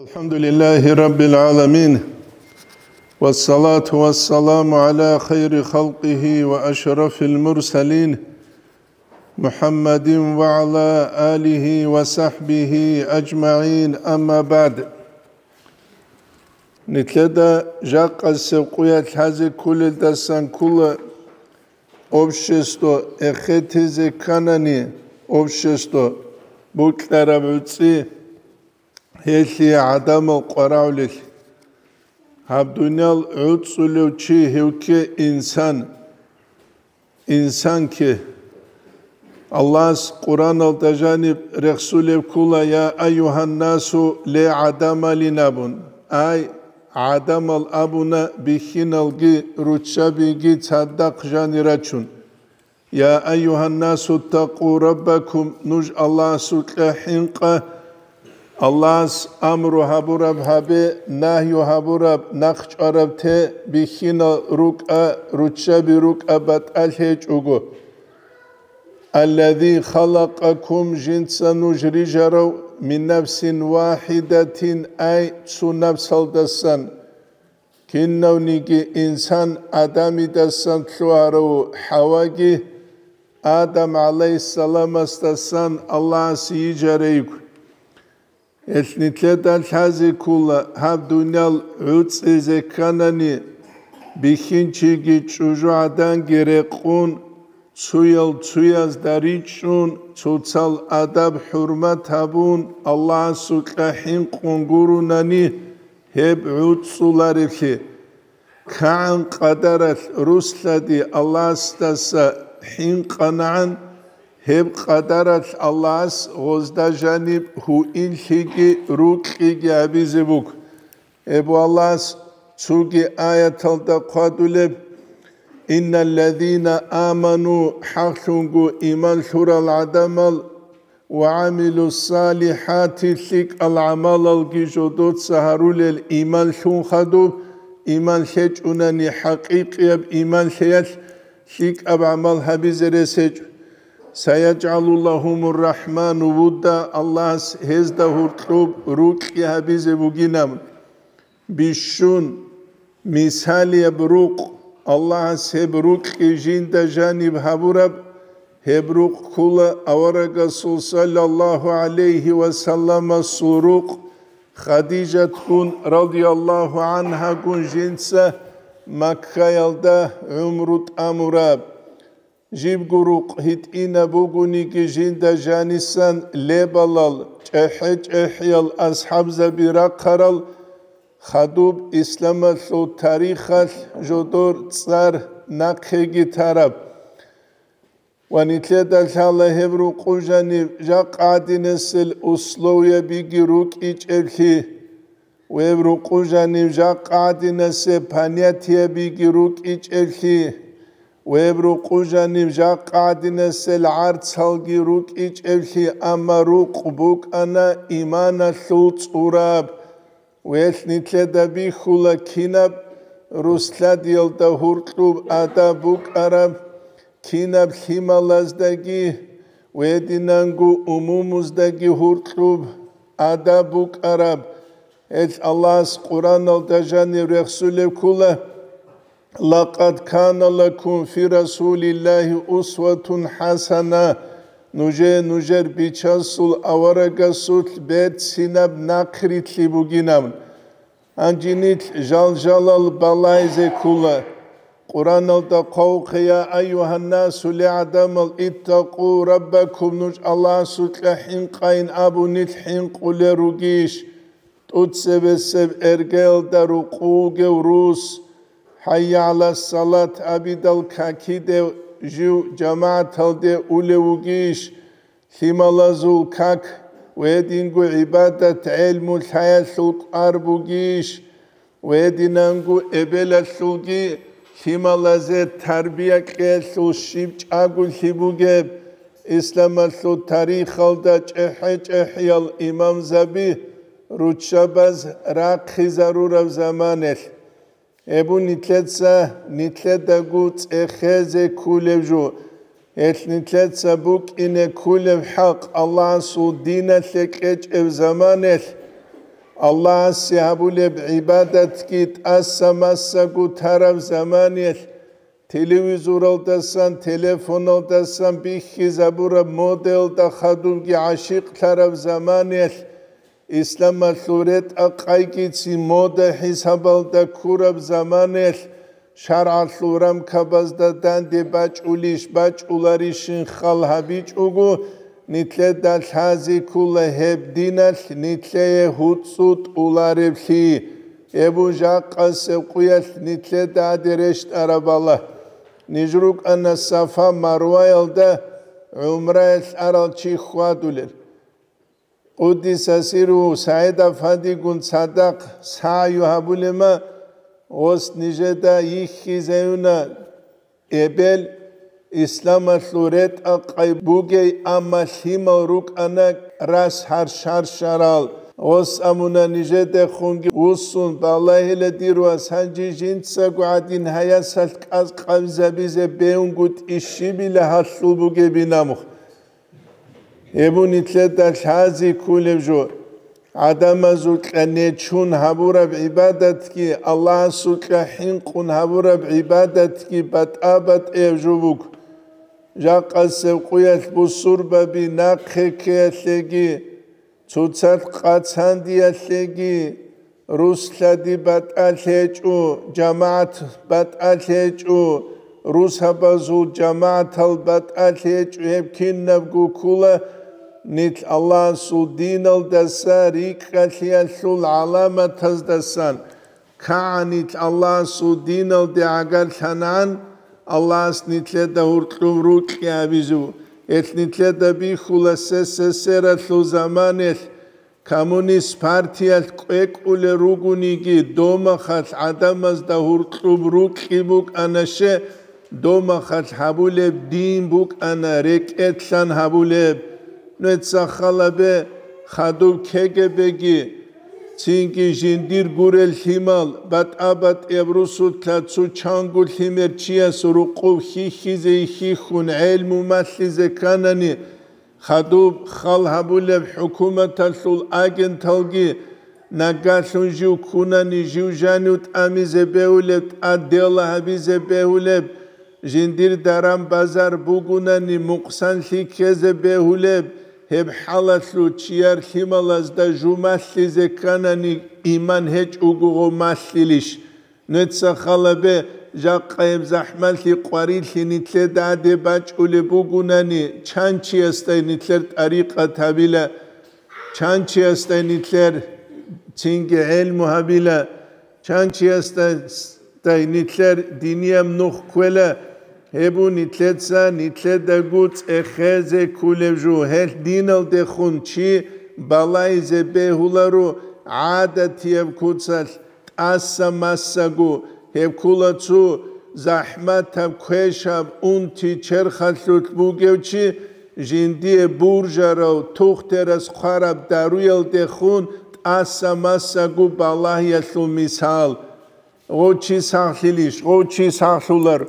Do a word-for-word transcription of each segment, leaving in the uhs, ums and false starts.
الحمد لله رب العالمين، والصلاة والسلام على خير خلقه وأشرف المرسلين، محمد وعلى آله وصحبه أجمعين، أما بعد. Нилъеда жакъасеб къуялъ лъазе кколелдасан ккола общество эхетизе кканани, общество букьараб гӀуцӀи, гьелъие гӀадамал къварагӀулел. Гьаб дуниял гӀуцӀулев чи гьев кке инсан, инсан кке. Аллагьас Къуръаналда жаниб рехсулеб ккола: «Я айюгьаннасу», ле гӀадамалин абун. Ай, гӀадамал абуна бихьиналги руччабиги цадахъ жанир рачун. «Я айюгьаннасу ттакъу раббакум», нуж Аллагьасукьа хӀинкъа. Аллагьас амру гьабураб гьабе, нагью гьабураб, нахъчӀвараб те, бихьинал рукӀа, руччаби рукӀа, батӀалъи гьечӀого. «Аллази халакъакум», жинца нуж рижарав, «мин нафсин вахидатин», ай, цо напсалдасан. Кинавниги инсан Адамидасан лъугьарав, ХӀаваги Адам гӀалайгьиссаламасдасан Аллагьас йижарайгу. Гьелъ нилъеда лъазе ккола, гьаб дуниял гӀуцӀизе кканани, бихьинчиги чӀужугӀаданги рекъун, цуял цуязда ричӀчӀун, цоцал адаб-хӀурмат гьабун, Аллагьасукьа хӀинкъун гурунани, гьеб гӀуцӀуларевлъи. КигӀан къадаралъ руслъади Аллагьасдаса хӀинкъанагӀан, гьеб къадаралъ Аллагьас гъозда жаниб гьуинлъиги рукьиги гьабизе буго. Гьеб Аллагьас цоги аяталда хъвадулеб: «Инналлазина аману», хӀакълъунго иман лъурал гӀадамал, «ва гӀамилу ссалихӀати», лъикӀал гӀамалалги жодоца гьарулел иман лъун хадуб, иман лъечӀунани хӀакъикъияб иман лъеялъ лъикӀаб гӀамал гьабизе рес гьечӀо. «СаяджгӀалу лагьумур рахӀману вудда», Аллагьас гьезда гьоркьоб рукьи гьабизе бугинаб. Бищун, мисалияб рукъ, Аллагьас гьеб рукьи жинда жаниб гьабураб, гьеб рукъ ккола аварагасул саллаллагьу гӀалайгьи ва салламасул рукъ, Хадижатгун радияллагьу гӀангьагун жинца Маккаялда гӀумру тӀамураб. Жибго рукъ гьитӀинаб бугониги жинда жанисан лебалал, чӀехӀе-чӀехӀиял асхӀабзаби рахъарал, хадуб исламалъул тарихалъ жодор цӀар нахъеги тараб. Ва нилъеда лъала гьеб рукъу жанив жакъа гӀадинасел условиябиги рукӀичӀеблъи. Гьеб рукъу жанив жакъа гӀадинасе понятиябиги рукӀичӀеблъи, гьеб рукъу жанив жакъа гӀадинасел гӀарцалги рукӀичӀеблъи, амма рукъ букӀана иманалъул цӀураб. Гьелъ нилъеда бихьула кинаб руслъадиялда гьуркьуб адаб букӀараб, кинаб лъималаздаги, гьединанго умумуздаги гьуркьуб адаб букӀараб. Гьелъ Аллагьас Къуръаналда жанив рехсулеб ккола: «Лакъад кана лакум фи Расулиллагьи усватун хӀасана», нужее нужер Бичасул аварагасулъ берцинаб нахърилълъи бугинаб. Гьанже нилъ жал-жалал балагьизе ккола. Къуръаналда хъвавухъе: «Я айюгьаннасу», ле гӀадамал, «иттакъу раббакум», нуж Аллагьасукьа хӀинкъайин абун нилъ хӀинкъулел ругищ? ТӀуцебесеб эргаялда рукъу вугев рус, «ХӀайя гӀала ссалат» абидал какиде жив жамагӀаталде улев вугищ? Лъималазул как ва гьединго гӀибадат, гӀелму лъаялъул кӀвар бугищ? Ва гьединанго эбелалъулги лъималазе тарбия кьеялъул щиб чӀаголъи бугеб? Исламалъул тарихалда чӀехӀе-чӀехӀиял имамзаби руччабаз рахъизарураб заманалъ. Гьеб нилъеца, нилъедаго цӀехезе кколеб жо. Гьелъ нилъеца букӀине кколеб хӀакъ Аллагьасул диналъе кьечӀеб заманалъ, Аллагьасе гьабулеб гӀибадатги тӀаса-масаго тараб заманиялъ, телевизоралдасан, телефоналдасан бихьизабураб модаялда хадубги гӀашикълъараб заманиялъ, исламалъул ретӀа-къайгицин мода хӀисабалда ккураб заманиялъ, шаргӀалъул рамкабазда данде бачӀулищ бачӀуларищин хал гьабичӀого, нилъеда лъази ккола гьеб диналъ нилъее гьуцӀу тӀулареблъи. Эбу жакъасеб къуялъ нилъеда гьаде рещтӀараб Аллагь. Ниж рукӀана Сафа-Марваялда гӀумраялъ арал чи хьвадулел. Къуддиса сирругьу СагӀид-афандигун цадахъ сагӀю гьабулема, гъос нижеда йихьизаюна эбел, исламалъул ретӀа-къай бугей, амма лъимал рукӀана рас гьар шаршарал. Гъос амуна нижедехунги вуссун, балагьила дир вас, гьанже жинцаго гӀадин гьаясалъ кӀаз къабзабизе бегьунгутӀи щибила гьалъул бугебин амухъ. Гьеб нилъеда лъази кколеб жо, гӀадамазукьа нечун гьабураб гӀибадатги, Аллагьасукьа хӀинкъун гьабураб гӀибадатги батӀа-батӀияб жо буго. Жакъасеб къуялъ бусурбаби нахъе ккеялъеги, цоцалъ къацандиялъеги, рус лъади батӀалъи гьечӀо, жамагӀат батӀалъи гьечӀо, русабазул жамагӀатал батӀалъи гьечӀо, гьеб кинабго ккола нилъ Аллагьасул диналдаса рикӀкӀалъиялъул гӀаламатаздасан. КагӀанилъ Аллагьасул диналде гӀагарлъанан, Аллагьас нилъеда гьуркьуб рукьи абизу. Гьелъ нилъеда бихьула СССР-алъул заманаялъ, коммунист партиялъ кӀвекӀулел ругониги, домахалъ гӀадамазда гьуркьуб рукьи букӀана ще, домахалъ гьабулеб дин букӀана рекӀелъан гьабулеб. Нуца халабе хадуб КГБ-ги, цинги жиндир гурел лъимал, батӀа-батӀияб русулъа цу чанго лъимер чияс рукъуб хьихьизе хьихьун гӀелму малъизе кканани, хадуб хал гьабулеб хӀукуматалъул агенталги нагагьлъун жив ккунани, жив жанив тӀамизе бегьулеб, тӀад дела гьабизе бегьулеб, жиндир даран-базар бугунани, мукъсанлъи ккезе бегьулеб, гьеб хӀалалъул чияр лъималазда жу малъизе кканани, иман гьечӀого гъо малъилищ? Нуца халабе жакъа гьеб захӀмалъи къварилъи нилъеда гьаде бачӀулеб бугунани, чан чиясдай нилъер тӀарикъат гьабила, чан чиясдай нилъер цинги гӀелму гьабила, чан чиясдай нилъер динияб нух кквела, гьеб нилъеца нилъедаго цӀехезе кколеб жо. Гьелъ диналдехун чи балайзе бегьуларо гӀадатияб куцалъ, тӀаса-масаго, гьеб ккола цо захӀматаб, квешаб, унти-черхалъулъ бугев чи, жиндие буржарав, тухтерас хъвараб даруялдехун тӀаса-масаго балагьиялъул мисал. Гъов чи сахлъилищ, гъов чи сахлъулар.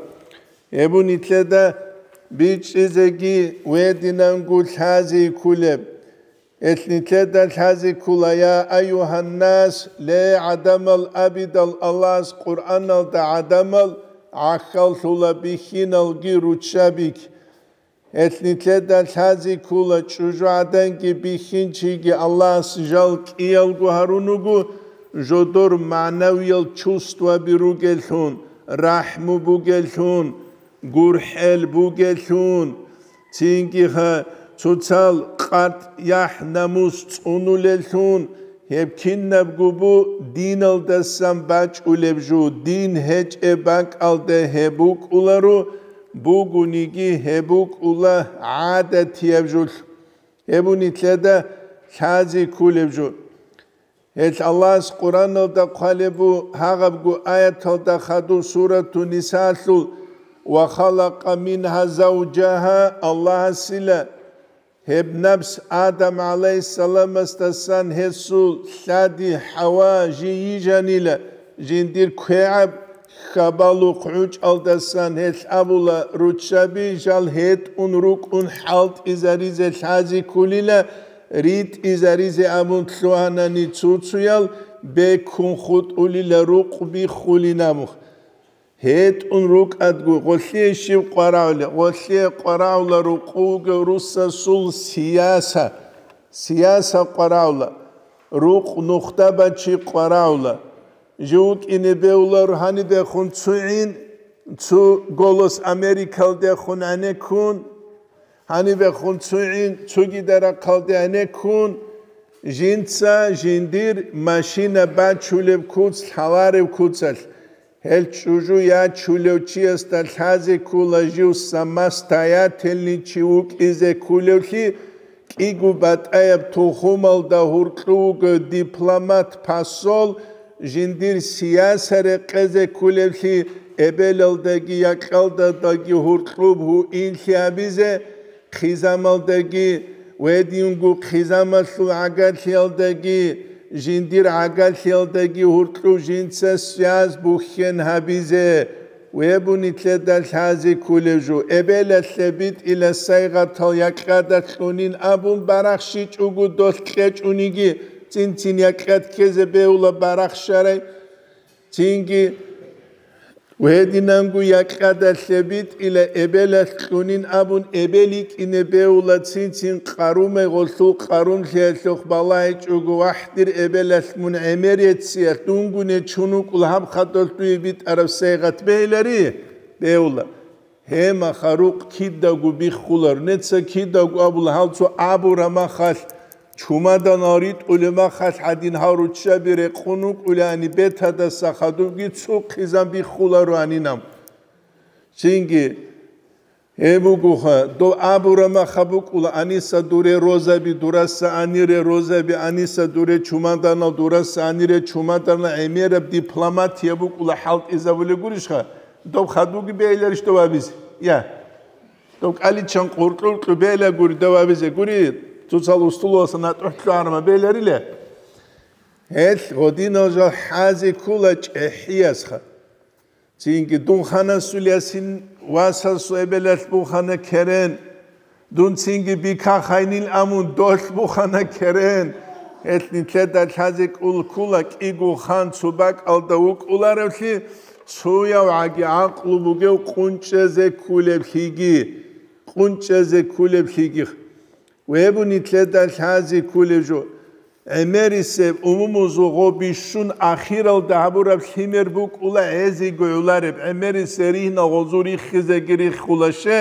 Гьеб нилъеда бичӀчӀизеги гьединанго лъази кколеб. Гьелъ нилъеда лъази ккола: «Я айюгьаннас», ле, гӀадамал абидал, Аллагьас Къуръаналда гӀадамал гӀахьаллъула бихьиналги руччабиги. Гьелъ нилъеда лъази ккола: чӀужугӀаданги бихьинчиги Аллагьас жал кӀиялго гьарун руго, жодор магӀнавиял чувстваби ругеллъун, рахӀму бугеллъун, гурхӀел бугеллъун, цинги гьа цоцал къартӀ яхӀ-намус цӀунулеллъун, гьеб кинабго бу диналдасан бачӀулеб жо, дин гьечӀеб бакӀалда гьеб букӀуларо, бугониги гьеб букӀула гӀадатияб жо. Гьеб нилъеда лъази кколеб жо. Гьелъ Аллагьас Къуръаналда хъвалеб бу гьагъабго аяталда хадуб сурату Нисаалъул: «Ва халакъа мингьа завжагьа», Аллагьасила гьеб напс Адам гӀалайгьиссаламасдасан гьесул лъади ХӀава жий йижанила, жиндир квегӀаб хабалухъ гӀучӀалдасан гьелъ абула руччаби жал гьетӀун рукӀун хӀалтӀизаризе лъази кколила, ритӀизаризе абун лъугьанани цуцуял, бекун хутӀулила рукъ биххулин абун. ГьетӀун рукӀадго, гъолъие щиб къварагӀули? Гъолъие къварагӀула рукъу вугев русасул сияса, сияса къварагӀула, рукъ нухда бачи къварагӀула. Жив вукӀине бевлар гьанибехун цугӀин, цу «Голос Америкалдехун» гӀенеккун, гьанибехун цугӀин, цуги дарахъалде гӀенеккун, жинца жиндир машина бачулеб куц лъаларев куцалъ, гьел чӀужу ячулев чиясда лъазе ккола жив самостоятельный чи вукӀизе кколевлъи, кӀиго батӀаяб тухумалда гьуркьу вуго дипломат, посол, жиндир сияса рекъезе кколевлъи, эбелалдаги якьалдадаги гьуркьуб гьуинлъи гьабизе, хъизамалдаги, гьединго хъизамалъул гӀагарлъиялдаги, жиндир гӀагарлъиялдаги гьуркьуб жинца связь бухьен гьабизе. Вебу нилъеда лъазе кколев жо, эбелалъе битӀила сайгъатал якьада кьунин абун барахщичӀого долъ кьечӀониги, цин-цин якьад ккезе бевла барахщарай. Цинги гьединанго якьадалъе битӀила эбелалъ кьунин абун эбел йикӀине бевла, цин-цин къарумай гъолъул къарумлъиялъухъ балагьичӀого, вахӀ, дир эбелалъ мун гӀемер ециялъ, дунго нечун вукӀула гьаб хадалъ дуе битӀараб сайгъат бегьилари? Бевла. Гьемаха рукъ кидаго биххулар, неца кидаго абула, гьал цо абура махалъ, чумаданал ритӀулеб махалъ гьадин гьал руччаби рекъун вукӀулани бетадаса хадубги цо хъизан биххуларо гьанинаб. Цинги гьеб бугоха, дов абура маха букӀула, аниса дуре розаби, дураса анире розаби, аниса дуре чумаданал, дураса анире чумаданал гӀемераб дипломатия букӀула хӀалтӀизабулеб гурищха? Доб хадуги бегьиларищ дов абизе? Я. Доб кӀаличан къуркьуркьу бегьила гури дов абизе. Гури, цоцал устулуса натӀухӀ лъугьарма бегьиларила. Гьел гъодинал жал хӀазе ккола чӀехӀиясха. Цинги дун ханасул ясин васасул эбелалъ бухана керен. Дун цинги бика хайнил амун долъ бухана керен. Гьелъ нилъеда лъазе кӀул ккула кӀиго хан цо бакӀалда вукӀуларевлъи, цояв гӀаги гӀакълу бугев къунчӀезе ккулеблъиги, къунчӀезе ккулеблъиги. Вебу нилъеда лъазе ккулев жо. ГӀемерисеб умумузул гъо бищун ахиралда гьабураб лъимер букӀула гӀезиго гӀолареб, гӀемерисеб ригьна гъозу риххизеги риххула ще.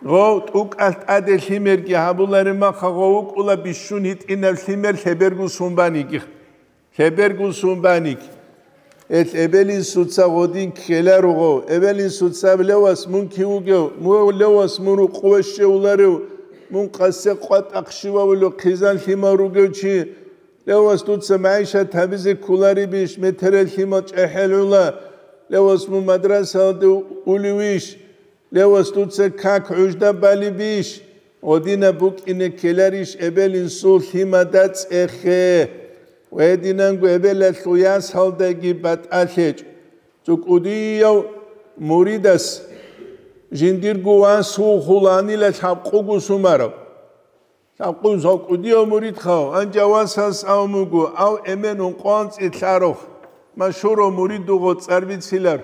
Гъов тӀукӀалъ тӀаде лъимерги гьабулареб маха гъов вукӀула бищун гьитӀинаб лъимер лъеберго сун баниги. Лъеберго сун баниги. Эл эбел-инсуца гъодин ккеларуго, эбел-инсуца: «Левас, мун кив вугев? Мугьев левас, мун рукъуве щевуларев? Мун къасе къватӀахъ щивавулев хъизан лъимал ругев чи? Левас, дуца магӀишат гьабизе кколаребищ, метерал лъимал чӀехӀел гӀула? Левас, мун мадрасалде улевищ? Левас, дуца как гӀужда балебищ? Гъодинаб букӀине ккеларищ эбел-инсул лъимада цӀехе? Гьединанго эбелалъул ясалдаги батӀалъечӀ. ЦӀукӀудияв муридас жиндирго вас вухуланила лъабкъуго сумарав. Лъабкъун цӀукӀудияв муридхав, анжавасас ав муго, ав эмен ункъван цӀилъарухъ, машгьурав муридуго цӀарбицилар.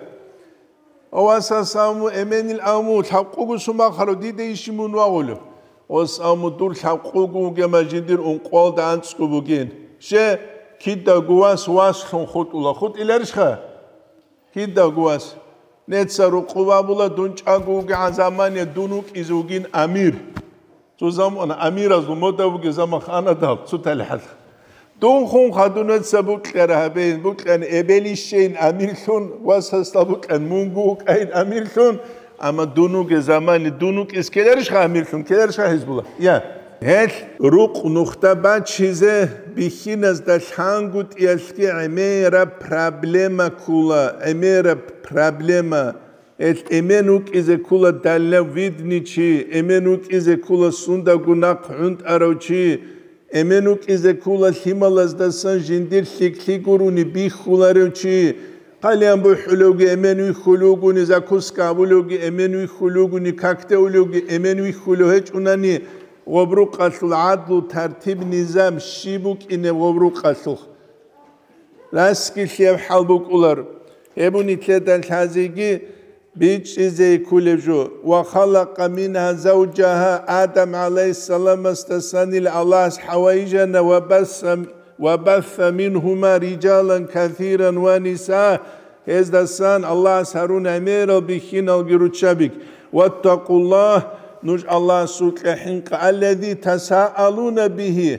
Авасас аму эменил аму лъабкъуго сумахъарав дида иши мун вагъулев? Ос аму дур лъабкъуго вугема жиндир ункъвалда анцӀго бугин. Ще, кидаго вас васлъун хутӀула. ХутӀиларищха? Кидаго вас. Неца рукъу вабула дун чӀаго вугегӀан замане дун вукӀизе вугин амир. Цо замана амиразул мода бугеб заман ханадал цо талихӀалха. Дун хун хадунаца букьара гьабейин, букьани эбелищейин амирлъун, васасда букьан мунго вукӀайин амирлъун, амма дун вугеб замани дун вукӀис ккеларищха амирлъун, ккеларищха Гьизбула? Я. Гьелъ рукъ нухда бачизе бихьиназда лъангутӀиялъги гӀемераб проблема ккула, гӀемераб проблема. Гьелъ эмен вукӀизе ккула дальновидный чи, эмен вукӀизе ккула сундаго нахъ гӀунтӀарав чи, эмен вукӀизе ккула лъималаздасан жиндир лъикӀлъи гурони бихьуларев чи, хъалиян бухӀулевги эмен вихьулев вугони, закуска гьабулевги эмен вихьулев вугони, как теулевги эмен вихьулев гьечӀунани, гъоб рукъалъул гӀадлу, тартиб-низам щиб букӀинеб гъоб рукъалъулъ. Раскилъияб хӀал букӀулар. Гьеб нилъеда лъазеги бичӀчӀизе кколеб жо. «Ва халакъа мингьа завджагьа», Адам гӀалайгьиссаламасдасанила Аллагьас ХӀавайижана, «ва басса, ва басса мингьума риджалан касиран ва ниса», гьездасан Аллагьас гьарун гӀемерал бихьиналги руччабиги. «Ваттакъуллагь», нуж Аллагьасукьа хӀинкъа, «аллази тасаалуна бигьи»,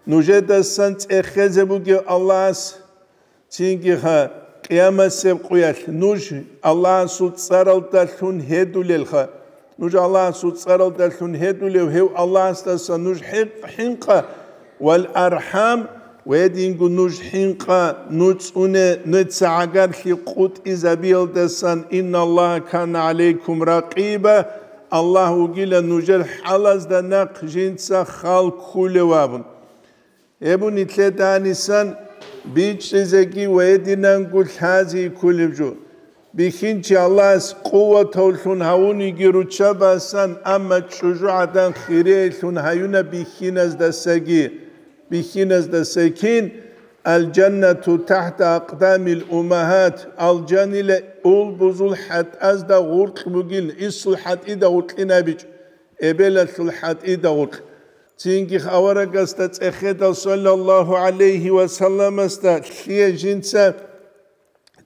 нужедасан цӀехезе бугев Аллагьас, цинги ха, къиямасеб къуялъ нуж Аллагьасул цӀаралдалъун гьедулелха. Нуж Аллагьасул цӀаралдалъун гьедулев гьев Аллагьасдаса нуж хӀинкъ-, хӀинкъа, «вал архӀам», ва гьединго нуж хӀинкъа, нуцӀуне, нуца гӀагарлъи къутӀизабиялдасан, «инналлагьа кана гӀалайкум ракъиба», Аллагь вугила нужер хӀалазда нахъ жинца хал ккулев абун. Гьеб нилъеда гьанисан бичӀчӀизеги ва гьединанго лъази кколеб жо. Бихьинчи Аллагьас къуватавлъун гьавуниги руччабасан, амма чӀужугӀадан хирейлъун гьаюна бихьиназдасаги. Бихьиназдаса кин, «Алжаннату тахта акъдамил уммагьат», алжанила улбузул хӀатӀазда гъуркь бугин, исул хӀатӀида гъуркьинабичӀ, эбелалъул хӀатӀида гъуркь. Цинги аварагасда цӀехедал саллаллагьу гӀалайгьи ва салламасда лъие жинца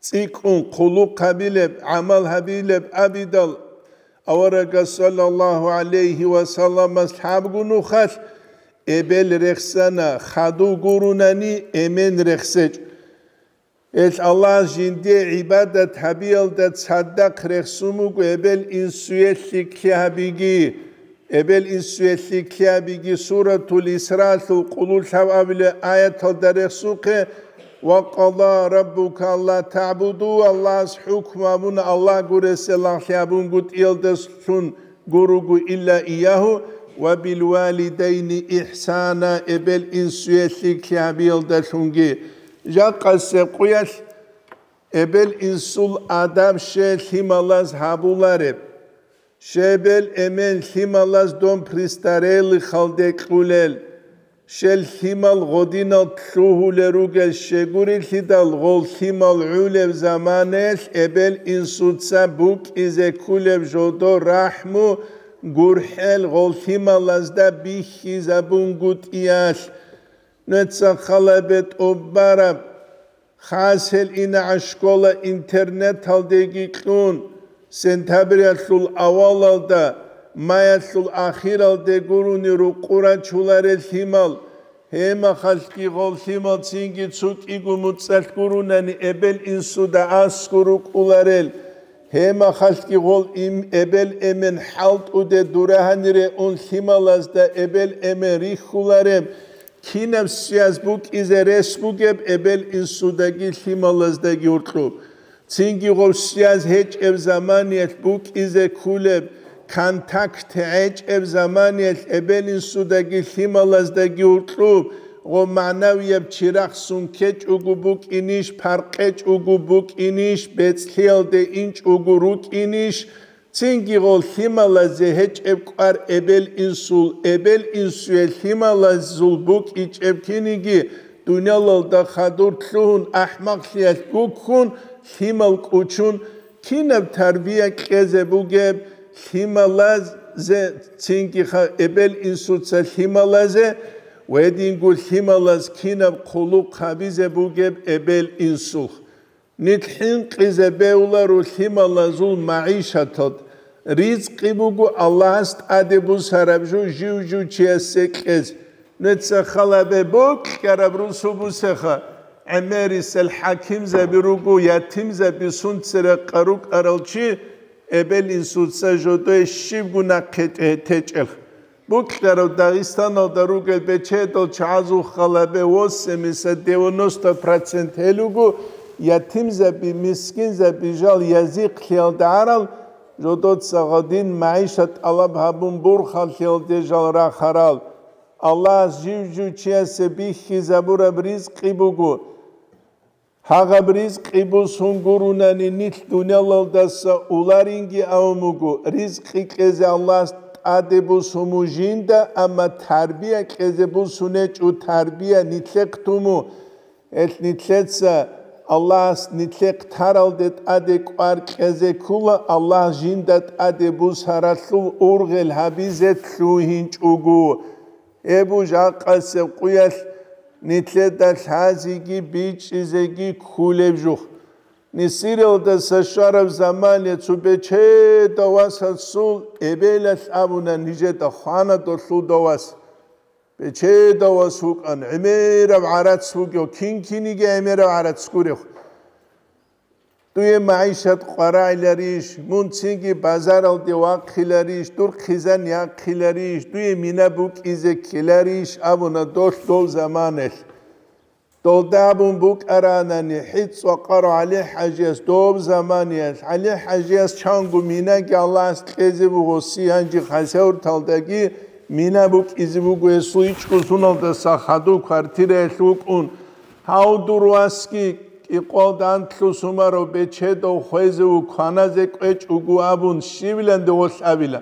цӀикӀкӀун хъулухъ гьабилеб, гӀамал гьабилеб абидал, аварагас саллаллагьу гӀалайгьи ва салламас лъабго нухалъ эбел рехсана, хадув гурунани эмен рехсечӀ. Гьелъ Аллагьас жиндие гӀибадат гьабиялда цадахъ рехсун буго эбел-инсуе лъикӀлъи гьабиги. Эбел-инсуе лъикӀлъи гьабиги. Суратул Исраалъул къулулъав абулеб аяталда рехсухъе: «Ва къада раббука алла таъбуду», Аллагьас хӀукму абуна Аллагь гуресе лагълъи абунгутӀиялдалъун гуруго, «илла иягьу ва билвалидайни ихсана», эбел-инсуе лъикӀлъи гьабиялдалъунги. Жакъасеб къуялъ эбел-инсул адаб щай лъималаз гьабулареб? Щай эбел-эмен лъималаз дом престарелыхалде кьулел? Щай лъимал гъодинал лъугьулел ругел? Щайгурелъидал гъол лъимал гӀулеб заманаялъ эбел-инсуца букӀизе ккулеб жодо рахӀму, гурхӀел гъол лъималазда бихьизабунгутӀиялъ. Нуца халабе тӀубараб, хасел инагӀа школа-интернаталдеги кьун, сентябрялъул авалалда, маялъул ахиралде гурони рукъу рачуларел лъимал, гьемахалъги гъол лъимал цинги цо кӀиго муцӀалъ гуронани эбел-инсуда аскӀор рукӀуларел, гьемахалъги гъол им-, эбел-эмен хӀалтӀуде дура гьанире ун лъималазда эбел-эмен рихьулареб, кинаб связь букӀизе рес бугеб эбел-инсудаги лъималаздаги гьоркьоб? Цинги гъоб связь гьечӀеб заманиялъ букӀизе ккулеб, контакт гьечӀеб заманиялъ эбел-инсудаги лъималаздаги гьоркьоб, гъоб магӀнавияб чирахъ сункечӀого букӀинищ, паркъечӀого букӀинищ, бецӀлъиялде инчӀого рукӀинищ, цинги гъол лъималазе гьечӀеб кӀвар эбел-инсул, эбел-инсуе лъималазул букӀичӀеб киниги, дуниялалда хадур лъугьун, ахӀмакълъиялъ гуккун, лъимал кӀучун, кинаб тарбия кьезе бугеб лъималазе, цинги ха-, эбел-инсуца лъималазе ва гьединго лъималаз кинаб хъулухъ гьабизе бугеб эбел-инсулъ. Нилъ хӀинкъизе бегьуларо лъималазул магӀишаталд. Ризкъи буго Аллагьас тӀаде бусараб жо жив-жив чиясе кьез. Нуца халабе бокьараб русу бусеха, гӀемерисел хӀакимзаби руго, ятимзаби сунцерекъа рукӀарал чи, эбел-инсуца жодое щибго нахъе течӀелъ. Бокьарав Дагъистаналда ругел бечедал чагӀазул халабе восемьдесят-девяносто процент гьел руго ятимзаби, мискинзаби жал язихълъиялда гӀарал, жодоца гъадин магӀишат тӀалаб гьабун бурхалъиялде жал рахарал. Аллагьас жив-жив чиясе бихьизабураб ризкъи буго. Гьагъаб ризкъи бусун гурунани нилъ дуниялалдаса уларинги авун буго, ризкъи кьезе Аллагьас тӀаде бусуму жинда, амма тарбия кьезе бусунечӀо, тарбия нилъехъ туму. Гьелъ нилъеца Аллагьас нилъехъ таралде тӀаде кӀвар кьезе ккула, Аллагь жинда тӀаде бусаралъул ургъел гьабизе лъугьинчӀого. Гьеб жакъасеб къуялъ нилъеда лъазеги бичӀчӀизеги кколеб жух. Несиралдаса щвараб замане цо бечедав васасул эбелалъ абуна нижеда: «Хвана долъуда вас». Бечедав вас вукӀан, гӀемераб гӀарац вугев, кин-киниги гӀемераб гӀарац гурев. Дуе магӀишат къварагӀиларищ, мун цинги базаралде вахъиларищ, дур хъизан яхъиларищ, дуе мина букӀизе ккеларищ абуна долъ дов заманалъ. Долда абун букӀаранани, хӀицӀ вакъарав ГӀали-ХӀажияс доб заманиялъ, ГӀали-ХӀажияс чанго минаги Аллагьас кьезе буго, си гьанжи хасавурталдаги мина букӀизе буго, гьесул ичӀго суналдаса хадув квартираялъ вукӀун. Гьав дур васги кӀикъвалда анлъу сумарав бечедав хвезе ву кваназе кӀвечӀого абун, щивиланде гъолъ абила.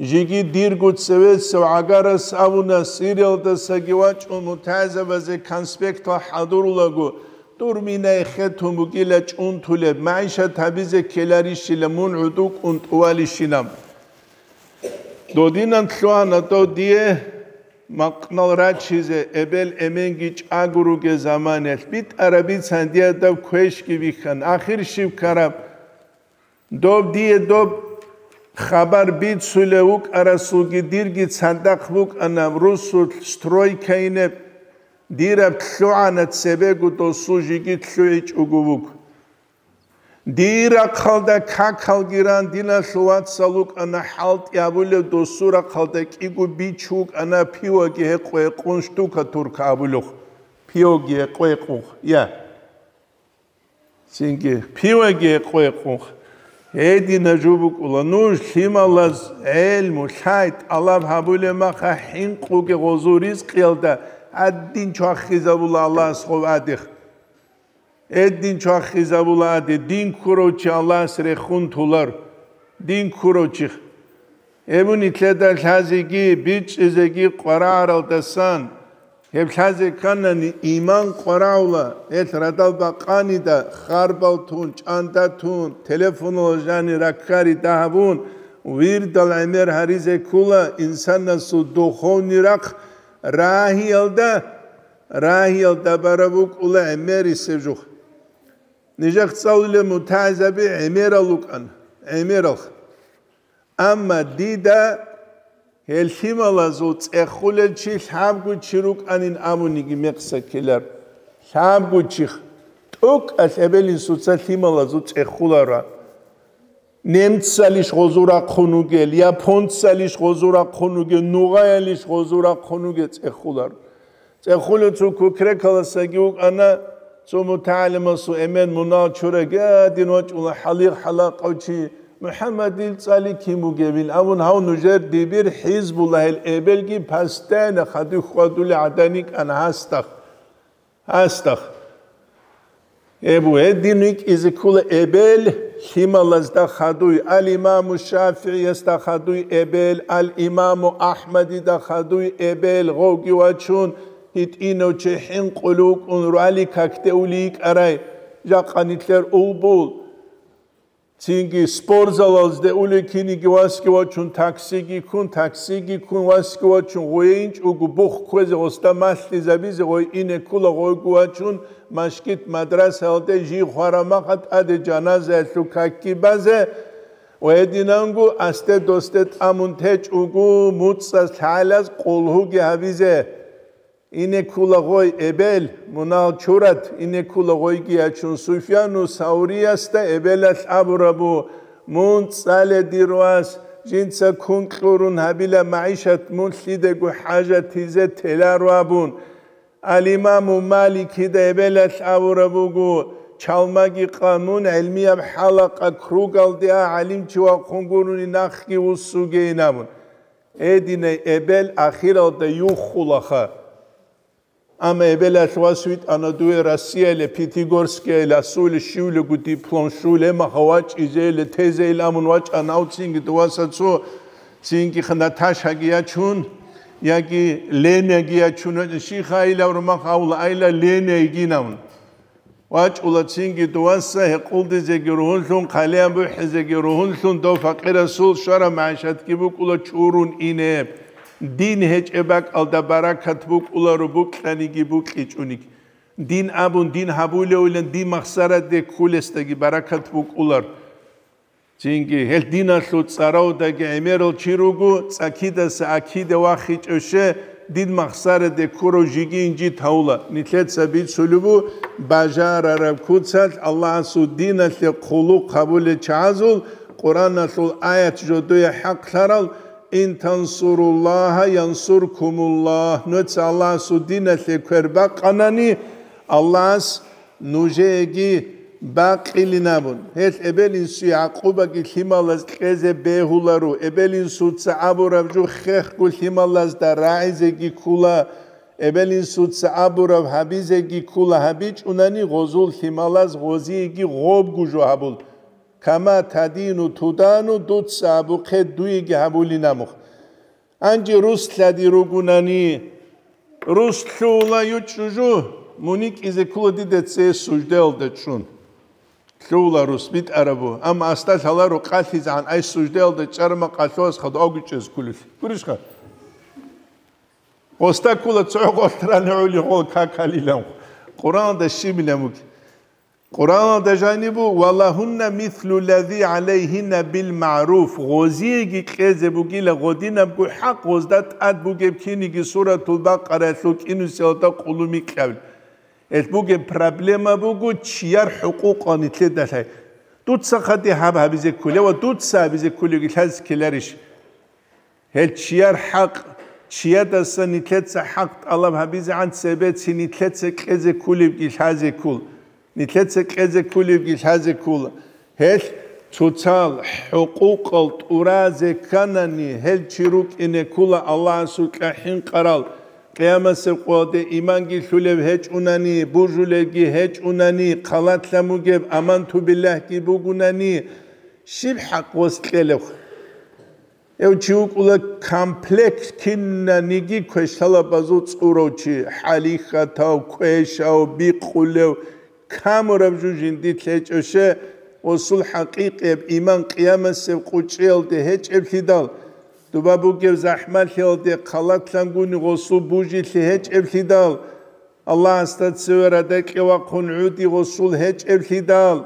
Жеги дирго цевесев гӀагарас абуна, Сириялдасаги вачӀун мутагӀилзабазе конспектал хӀадурулаго, дур мина эхетун бугила чӀунтулеб, магӀишат гьабизе ккеларищила мун гӀуду кӀун тӀувалищинаб. Додинан лъугьана дов дие макънал рачизе, эбел-эменги чӀаго ругел заманаялъ битӀараб бицан дие дав квешги бихьан. Ахир щиб ккараб? Доб дие доб хабар бицулев вукӀарасулги дирги цадахъ букӀана русулъ стройкайинеб, дираб лъугӀана цебего досул жеги лъугӀичӀого вуго. Дир рахъалда какалги ран диналъул вацал вукӀана хӀалтӀи абулев, досул рахъалда кӀиго бич вукӀана пиваги гьекъо-гьекъун штукатурка абулев, пиваги гьекъо-гьекъун, я. Цинги пиваги гьекъо-гьекъун. Гьедина жо букӀула нуж лъималаз гӀелму, лъай тӀалаб гьабулеб маха хӀинкъуге гъозу ризкъиялда гьадин чвахизабула Аллагьас гъов адих. Гьедин чвахизабула ади, дин ккурав чи Аллагьас рехун тулар. Дин ккурав чи. Гьеб нилъеда лъазеги бичӀчӀизеги къварагӀаралдасан, гьеб лъазе кканани иман къварагӀула, гьелъ радал бакъанида, харбал тун, чӀанда тун, телефонал жани раккари дагьабун, вирдал гӀемер гьаризе ккула инсанасул духовный рахъ рагьиялда, рагьиялда бараб букӀула гӀемерисеб жух. Нижехъ цӀалулел мутагӀилзаби гӀемерал рукӀан, гӀемерал. Амма дида гьел лъималазул цӀехулел чи лъабго чи рукӀанин абуниги мекъса ккелар. Лъабго чих. ТӀокӀалъ эбел-инсуца лъималазул цӀехулара. Немцалищ гъозу рахъун вугел, японцалищ гъозу рахъун вугел, нугъаялищ гъозу рахъун вугел цӀехулар. ЦӀехулев цо кукрекаласаги вукӀана, цо мутагӀалимасул эмен мунагьал чураги гьадин вачӀула хӀалихъ-хӀалакъав чи, МухӀаммадил цӀали кин бугебин абун, гьав нужер дибир ХӀизбуллагьил эбелги постоянно хадуй хьвадулел гӀадан йикӀана гьасдахъ. Гьасдахъ. Эбу, гьедин рикӀкӀизе ккола эбел лъималазда хадуй, ал-Имаму ШафигӀиясда хадуй эбел, ал-Имаму Ахмадида хадуй эбел, гъовги вачун, гьитӀинав чи хӀинкъулев вукӀун руали какде ули йикӀарай, жакъа нилъер улбул. Цинги спортзалазде улей киниги васги вачун, таксиги ккун, таксиги ккун васги вачун, гъойинчӀого бух кквезе, гъосда малъизабизе гъой ине ккула, гъойго вачун, машгит-мадрасаялде жий хварамаха тӀаде жаназаялъул какги базе ва гьединанго асде-досде тӀамун течӀого муцӀаз лъалаз къулгьуги гьабизе. Ине ккула гъой эбел, мунагьал чурат, ине ккула гъойги ячун Суфьяну Сауриясда эбелалъ абурабу, мун цӀале, дир вас, жинца ккун кьурун гьабила магӀишат, мун лъидего хӀажатизе теларо абун. Ал-Имаму Маликида эбелалъ абураб буго, чалмаги къан, мун гӀилмияб хӀалакъа кругалде а гӀалимчи вахъун гурони нахги вуссугейин абун. Гьединай эбел ахиралда юххулаха. Амма эбелалъ вас витӀана дуе Россияле, Пятигорскияле, асуле щивлего диплом щуле, маха вачӀизейле, тезейл амун вачӀана, авцинги дуваса цо Цинги Наташаги ячун, яги Ленаги ячун, щиха айла, урмах авла айла, Лена йигинавун. ВачӀула цинги дуваса гьекъулдизеги ругьунлъун, хъалиян бухӀизеги ругьунлъун, дов факъирасул щвараб магӀишатги букӀула чурун ине. Дин гьечӀеб бакӀалда баракат букӀуларо, букьаниги букьичӀониги. Дин абун, дин гьабулевилан, дин махсараде ккулесдаги баракат букӀулар. Цинги гьел диналъул цӀаравдаги гӀемерал чи руго, цӀакидаса акиде вахичӀев ще, дин махсараде ккурав жиги инжит гьавула. Нилъеца бицулеб бу, бажарараб куцалъ Аллагьасул диналъе хъулухъ гьабулел чагӀазул Къуръаналъул аят жодое хӀакълъарал: «Ин тансуруллагьа янсуркумуллагь». Нуца Аллагьасул диналъе квер бакъанани, Аллагьас нужееги бакъилин абун. Гьел эбел-инсуе гӀакъубаги лъималаз кьезе бегьуларо, эбел-инсуца абураб жо хехго лъималазда рагӀизеги ккула, эбел-инсуца абураб гьабизеги ккула, гьабичӀунани гъозул лъималаз гъозиеги гъобго жо гьабул. Кама тадину тудану, дуца абухъе дуеги гьабулин абухъ. Гьанже рус лъади ругунани, рус лъугьула ючӀужу, муникӀизе ккула дида цее суждаялда чӀун. Лъугьула рус битӀарабу, амма асда лъаларо къалъизегӀан ай суждаялда чӀарма къалъугьас хадув авги чӀезе кколелъи. Гурищха? Гъосда ккула цо гъолъ рани гӀули гъол какалилан. Къуръаналда щибилан буги. Къуръаналда жанибу: «Ва лагьунна мислу лази гӀалайгьинна бил магӀруф», гъозиеги кьезе бугила гъодинабго хӀакъ гъозда тӀад бугеб киниги Суратул Бакъараялъул кӀинусиялда къулумикьабил. Гьелъ бугеб проблема буго чияр хӀукъукъал нилъеда лъай. Дуца хъади гьаб гьабизе кколев ва дуца гьабизе кколевги лъазе ккеларищ? Гьел чияр хӀакъ, чиядаса нилъеца хӀакъ тӀалаб гьабизегӀан цебецин нилъеца кьезе кколебги лъазе ккол, нилъеца кьезе кколебги лъазе ккола. Гьел цоцал хӀукъукъал тӀуразе кканани, гьел чи рукӀине ккола Аллагьасукьа хӀинкъарал, къиямасеб къоялде иманги лъулев гьечӀунани, бужулевги гьечӀунани, хъалатлъан бугеб аманту биллагьги бугунани, щиб хӀакъ гъос кьелев? Гьев чи вукӀула комплект кинаниги квешлъалабазул цӀурав чи, хӀалихьатав, квешав, бикъулев, камураб жо жиндилъ гьечӀоше, гъосул хӀакъикъияб иман къиямасеб къучӀиялде гьечӀеблъидал, дуба бугеб захӀмалъиялде хъалатлъангуни гъосул бужилъи гьечӀеблъидал, Аллагьасда цеве радакье вахъун гӀуди гъосул гьечӀеблъидал,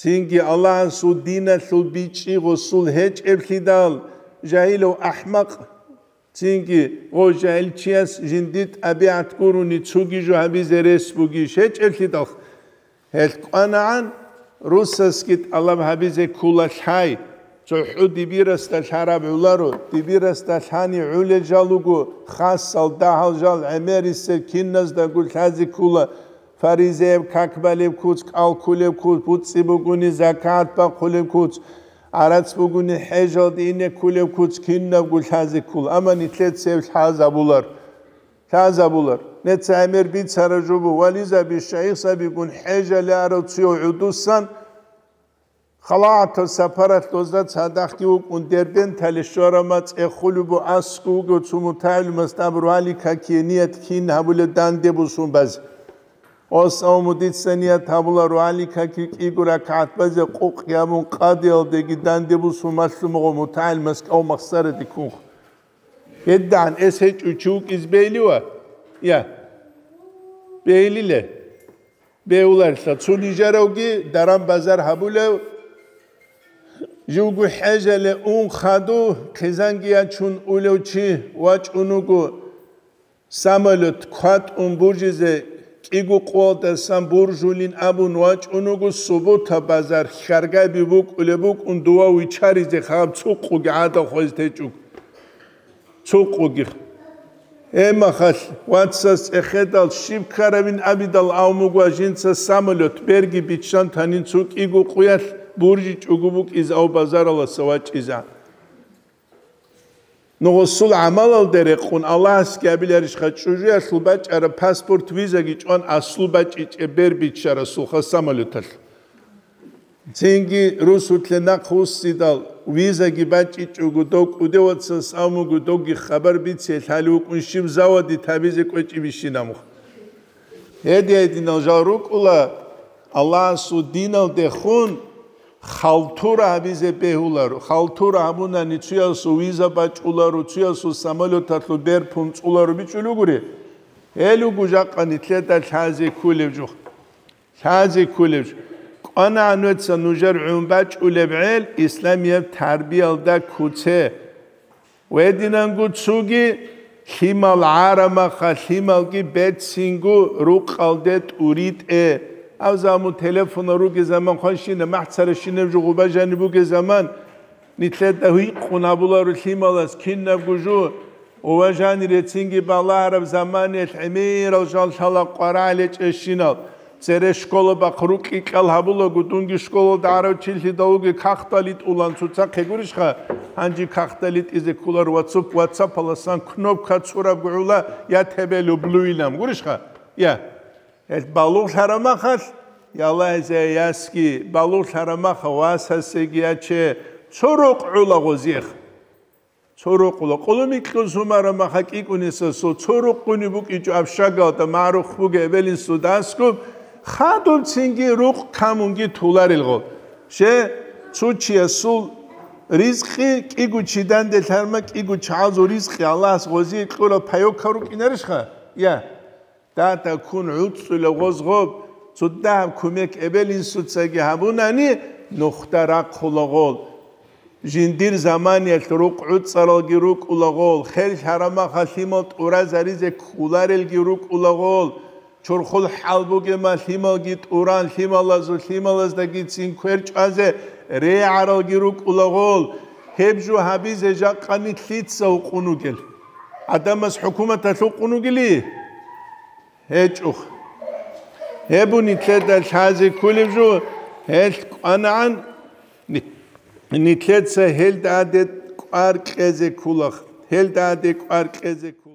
цинги Аллагьасул диналъул бичӀчӀи гъосул гьечӀеблъидал, жагьилав ахӀмакъ, цинги гъо жагьилчияс жинди тӀабигӀат гурони цуги жо гьабизе рес бугищ гьечӀеблъидал, гьел кӀванагӀан русасги тӀалаб гьабизе ккула лъай. ЦохӀо дибирасда лъараб гӀоларо, дибирасда лъани гӀолел жал руго, хасал, дагьал жал, гӀемерисел киназдаго лъазе ккула, фаризаяб как балеб куц, кӀал кколеб куц, буцӀцӀи бугони закагӀат бахъулеб куц, гӀарац бугони хӀежалде ине кколеб куц кинабго лъазе ккола, амма нилъеца гьеб лъазабулар. Лъазабулар. Неца гӀемер бицараб жо буго, вализаби, шайихзабигун хӀежале арав цуяв гӀудусан, халатал сапаралъ дозда цадахъги вукӀун, Дербентале щварама цӀехулеб бу аскӀов вугев цо мутагӀилмас аб ругьаликакие ният кин гьабулеб данде бусун базе. Ос, авму дица ният гьабула ругьаликаки кӀиго ракагӀат базе къукъ гьабун къадиялдеги данде бусун малъумагъо мутагӀилмас кӀав махсараде ккунха. ГьедигӀан эс гьечӀо чи вукӀиз бейли ва? Я. Бейлиле. Беуларилъа цо нижаравги даран-базар гьабулев, живго хӀежале ун хаду, хъизанги ячун улев чи вачӀун вуго, самолет кватӀун бужизе кӀиго къоялдасан буржулин абун вачӀун вуго, субута базар хьаргаби букӀулеб букӀун дова вичаризе хаб цукъуги гӀадал хвезе течӀуг. Цукъуги. Гьебмахалъ, вацас цӀехедал щиб ккаравин абидал авмугва жинца самолет берги биччан танин цукъиго къуялъ буржичӀого букӀиз ав базараласа вачӀиза. Нугъусул гӀамалалде рекъун Аллагьасги абиларищха чӀужуялъул бачӀараб паспорт, визаги чӀван аслу бачӀичӀеб бер биччарасулха самолеталъ. Цинги русулъе нахъ вуссидал, Визаги бачӀичӀого, дов кӀудев вацас абун буго, довги хабар бице, лъалев вукӀун щиб заводе табизе кӀвечӀебищин абун. Гьедин-гьединал жал рукӀуна, Аллагьасул диналдехун халтура гьабизе бегьуларо. Халтура гьабунани цуясул виза бачӀуларо, цуясул самолеталъул бер пунцӀуларо бичӀчӀулев гури. Гьел руго жакъа нилъеда лъазе кколеб жо. Лъазе кколеб жо. КӀванагӀан вецца нужер гӀун бачӀулеб гӀел исламияб тарбиялда куце. Гьединанго цоги лъимал гӀарамаха, лъималги берцинго рукъалде тӀуритӀе. Гьав замун телефонал ругел заман хванщина, махӀ царащинаб жо гъуба жаниб бугел заман, нилъеда гьикъун гьабуларо лъималас кинабго жо, ва жанире цинги балагьараб заманиялъ гӀемерал жал лъала къварагӀел гьечӀещинал. Цере школа бахъ рукӀи кьал гьабулаго, дунги школалда гӀарав чилъидалуги кахтали тӀулан цоцахъе гурищха, гьанже кахтали тӀизе кколар ватсап-, ватсапаласан кнопка цураб гугӀула, я тебе люблю илан гурищха? Я. Гьел балугълъараб махалъ, я Аллагьизе ясги, балугълъараб маха васасеги яче, цо рукъ гӀула гъозиех. Цо рукъула къулумикьлъун сумара маха кӀикӀунисасул, цо рукъуни букӀичӀо общагалда, магӀрух бугеб эбелинсудасго, хадубцинги рукъ камунги туларилгъо. Ще цо чиясул ризкъи кӀиго чи данде лъарма, кӀиго чагӀазул ризкъи Аллагьас гъозие кьурал пайокал рукӀинарищха? Я. Дада ккун гӀуцӀцӀулев гъоз гъоб, цо дагьаб кумек эбел-инсуцаги гьабунани, нухда рахъула гъол. Жиндир заманиялъ рукъ гӀуцӀаралги рукӀула гъол, хел-хӀарамаха лъимал тӀуразаризе кколарелги рукӀула гъол, чорхол хӀал бугема лъималги тӀуран, лъималазул лъималаздагицин квер чӀвазе регӀаралги рукӀула гъол. Гьеб жо гьабизе жакъани лъица гьукъун вугел? ГӀадамас хӀукуматалъ гьукъун вугели? ГьечӀо. Гьеб нилъеда лъазе кколеб жо, гьелъ кӀванагӀан, ни-, нилъеца гьелда гьаде кӀвар кьезе ккола, гьелда гьаде кӀвар кьезе ккола.